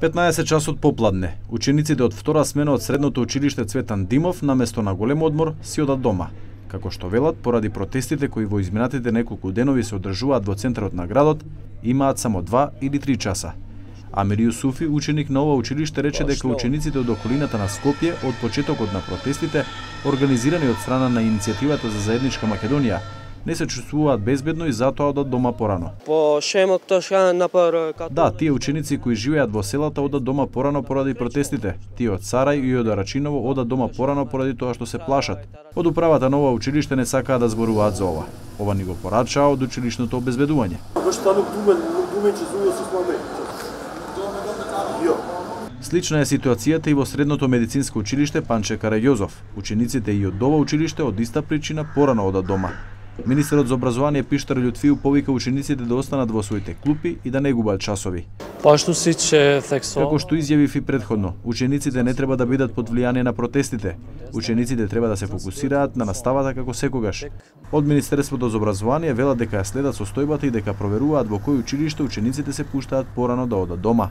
15 часот попладне, учениците од втора смена од средното училиште Цветан Димов наместо на голем одмор си одат дома. Како што велат, поради протестите кои во изминатите неколку денови се одржуваат во центарот на градот, имаат само 2 или 3 часа. Амир Јусуфи, ученик на ова училиште, рече дека учениците од околината на Скопје од почетокот на протестите, организирани од страна на иницијативата за заедничка Македонија, не се чувствуваат безбедно и затоа одат дома порано. Да, тие ученици кои живеат во селата одат дома порано поради протестите. Тие од Сарај и од Арачиново одат дома порано поради тоа што се плашат. Од управата на ова училиште не сакаат да зборуваат за ова. Ова ни го порачаа од училишното обезбедување. Слична е ситуацијата и во средното медицинско училиште Панче Караѓозов. Учениците и од ова училиште од иста причина порано одат дома. Министерот за образование Пиштар Љутфију повика учениците да останат во своите клупи и да не губат часови. Како што изјавив и предходно, учениците не треба да бидат под влијание на протестите. Учениците треба да се фокусираат на наставата како секогаш. Од Министерството за образование велат дека ја следат состојбата и дека проверуваат во кој училиште учениците се пуштаат порано да одат дома.